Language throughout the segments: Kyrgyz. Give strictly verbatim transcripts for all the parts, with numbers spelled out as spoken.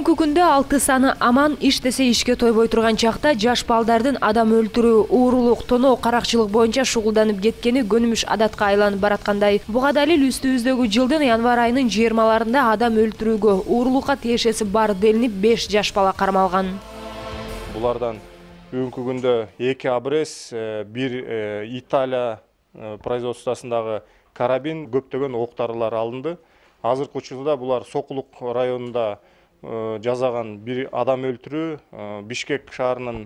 Бүгүнкү күндө алты саны аман иштесе ишке тойбой турган чакта жаш балдардын адам өлтүрүү, уурулук, тоноо, каракчылык боюнча шугулданып кеткени көнүмүш адатка айланып бараткандай. Буга далил үстүбүздөгү жылдын январь айынын жыйырмаларында адам өлтүрүүгө, уурулукка тиешеси бар делинип беш жаш бала кармалган. Булардан бүгүнкү күндө эки абрес, бир Италия производствосундагы карабин, көптөгөн октарылар алынды. Азыркы учурда булар Сокулук районунда жазаган бир адам өлтүрүү, Бишкек шаарынын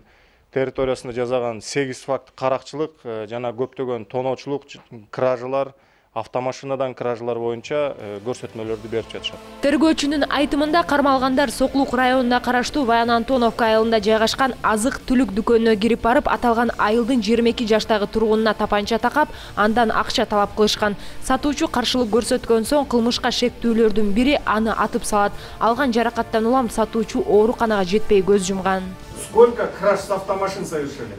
территориясында жазаган сегиз факт каракчылык жана көптөгөн тоноочулук, кражалар, автомашинадан кражалар боюнча көрсөтмөлөрдү берип жатышат. Тергөөчүнүн айтымында кармалгандар Сокулук районуна караштуу Баян Антоновка айылында жайгашкан азык-түлүк дүкөнүнө кирип барып, аталган айылдын жыйырма эки жаштагы тургунуна тапанча такап, андан акча талап кылышкан. Сатуучу каршылык көрсөткөн соң кылмышка шектүүлөрдүн бири аны атып салат. Алган жаракаттан улам сатуучу ооруканага жетпей көз жумган. Сколько краж с автомашин совершили?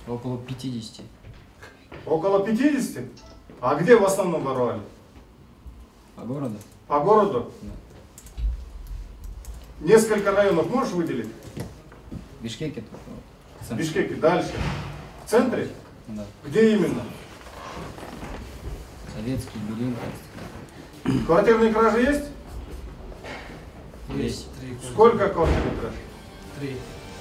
Около пятидесяти. Около пятидесяти? А где в основном воровали? По городу. По городу? Да. Несколько районов можешь выделить? В Бишкеке. В Бишкеке. Дальше. В центре? Да. Где именно? Советский, Белинка. Квартирные кражи есть? Есть. Сколько квартирных краж? Три.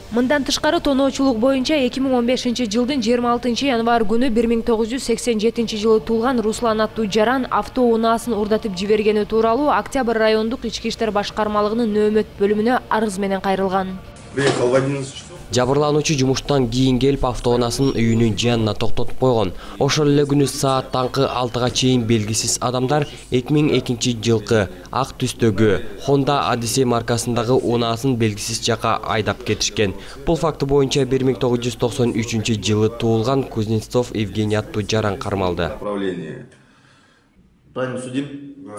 Мындан тышкары тоноочулук боюнча эки миң он бешинчи жылдын жыйырма алтынчы январь күнү бир миң тогуз жүз сексен жетинчи жылы туулган Руслан аттуу жаран автоунаасын урдатып жибергени тууралуу Октябрь райондук ички иштер башкармалыгынын нөөмөт бөлүмүнө арыз менен кайрылган. Приехал в одиннадцать часов. Жабырлануучу жумуштан кийин келип автоунаасынын үйүнүн жанына токтотуп койгон. Ошол эле күнү саат таңкы алтыга чейин белгисиз адамдар эки миң экинчи жылкы ак түстөгү Honda Odyssey маркасындагы унаасын белгисиз жака айдап кетишкен. Бул факты боюнча бир миң тогуз жүз токсон үчүнчү жылы туулган Кузнецов Евгений аттуу жаран кармалды. Правильно судим? Да.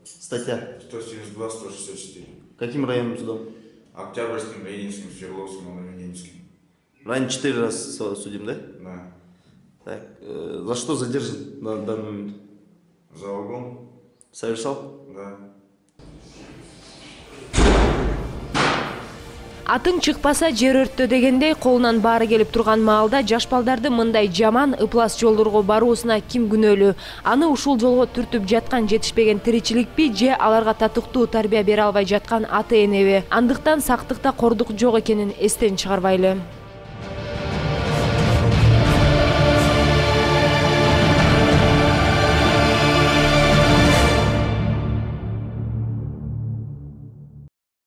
Статья? сто семьдесят два сто шестьдесят четыре. Каким районным судом? Октябрьским, Ленинским, Свердловским, Новоленинским. Ранее четыре раза судим, да? Да. Так, э, за что задержан на данный момент? За угон? Совершал? Да. Атың чыкпаса жер өрттө дегендей колунан баары келип турган маалда жаш балдарды мындай жаман ыплас жолдорго баруусуна ким күнөөлүү? Аны ушул жолго түртүп жаткан жетишпеген тиричиликпи же аларга татыктуу тарбия бере албай жаткан ата энеби? Андыктан сактыкта кордук жок экенин эстен чыгарбайлы.